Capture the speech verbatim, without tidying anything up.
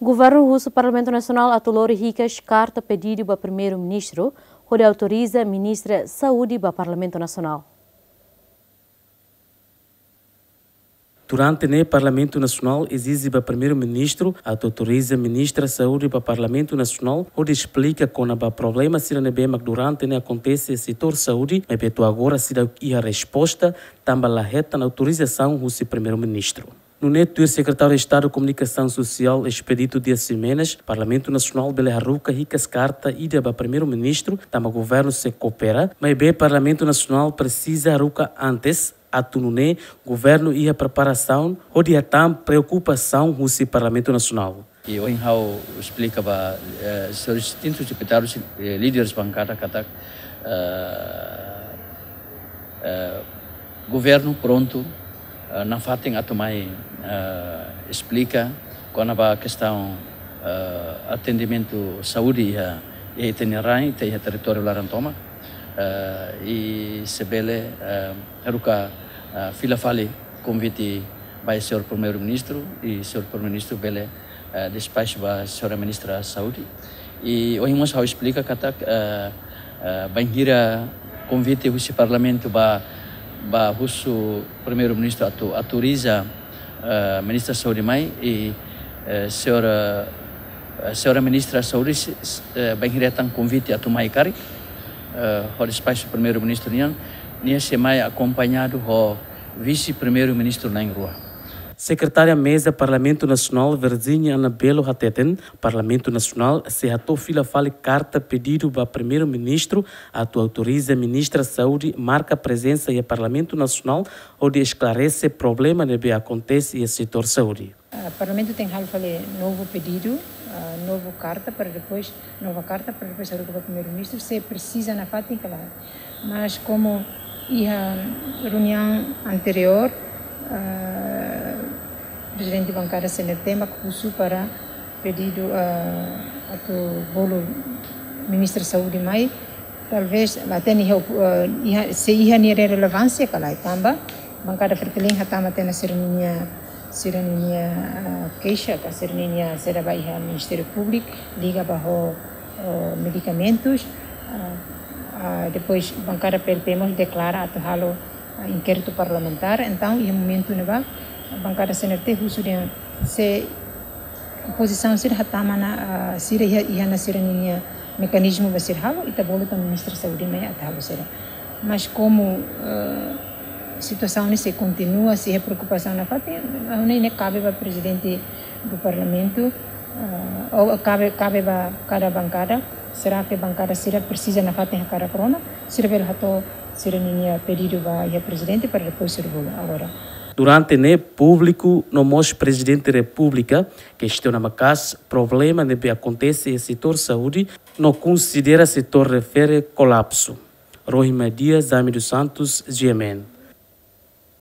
Governu husu Parlamentu Nasionál atu lori hikas karta pedidu ba Primeiru-Ministru, hodi autoriza Ministra Saúde ba Parlamentu Nasionál. Durante ne'e Parlamentu Nasionál ezije ba Primeiru-Ministru atu autoriza Ministra Saúde ba Parlamentu Nasionál hodi esplika kona-ba problema sira ne'ebé mak durante ne'e akontese setór saúde, maibé to'o agora seidauk iha resposta, tanba la hetan autorizasaun husi Primeiru-Ministru. Nune'e tuir Sekretáriu Estadu Komunikasaun Sosiál Expedito Dias Ximenes, Parlamentu Nasionál bele haruka hikas karta ida ba Primeiru-Ministru, tanba governu sei koopera, maibé Parlamentu Nasionál presiza haruka antes, atu nune'e governu iha preparasaun hodi hatán preokupasaun husi Parlamentu Nasionál. I ohin ha'u esplika ba, eh, señores distintus deputadus, eh, líderes bankada katak, eh, eh, governu prontu, eh, nafatin atu mai, eh, esplika kona-ba kestaun, eh, atendimentu saúde iha, iha ita-nia rain, iha territóriu laran tomak. Eh, i se bele, eh, haruka, eh, fila fali konvite ba señór Primeiru-Ministru, i señór Primeiru-Ministru bele, eh, despaxu ba señora Ministra Saúde. I ohin mós ha'u esplika katak, eh, eh, bainhira konvite husi Parlamentu ba, ba husu Primeiru-Ministru atu autoriza, eh, Ministra Saúde mai, i, eh, señora, eh, señora Ministra Saúde, se, se, eh, bainhira hetan konvite atu mai karik, eh, ho despaxu Primeiru-Ministru nian, nia sei mai akompañadu ho Vise-Primeiru-Ministru na'in-rua. Sekretária Meza Parlamentu Nasionál Virginia Anabelo hateten, Parlamentu Nasionál sei hato'o fila fali karta pedidu ba Primeiru-Ministru atu autoriza Ministra Saúde marka prezensa iha Parlamentu Nasionál hodi esklarese problema ne'ebé akontese iha setór saúde. Ah, Parlamentu tenke halo fali novu pedidu, ah, novu karta para depois, nova karta para depois haruka ba Primeiru-Ministru, se presiza nafatin ka lae. Mas komu iha reuniaun anteriór, ah, Prezidente Bankada C N R T mak husu para pedidu, ah, atu bolu Ministra Saúde mai, talvés la hatene iha, ah, iha, se iha nia relevánsia ka lae, tanba Bankada Fretilin hatama tiha ona sira-ninia, sira-ninia, ah, keixa ka sira-ninia saida ba iha Ministériu Públiku liga ba ho, oh, medikamentus, ah, ah, depois Bankada P L P mós deklara atu halo, ah, inkéritu parlamentár. Entaun iha momentu ne'ebá Bankada C N R T husu dehan se opozisaun sira hatama ona, ah, sira iha, iha ona sira-ninia mekanizmu ba sira halo, ita bolu tan Ministra Saúde mai atu halo sira. Mas komu, ah, situasaun ne'e sei kontinua, sei iha preokupasaun nafatin, ah, ne'e, ne'e kabe ba Prezidente do Parlamentu, ah, ou kabe, kabe ba kada bankada, será que bankada sira presiza nafatin hakarak rona, sira bele hato'o sira-ninia pedidu ba iha Prezidente para depois sira bolu agora. Durante ne'e públiku no mós Prezidente Repúblika kestiona maka'as problema ne'ebé akontese iha setór saúde, no konsidera setór refere kolapsu. Rohima Dias, Zami dos Santos, G M N.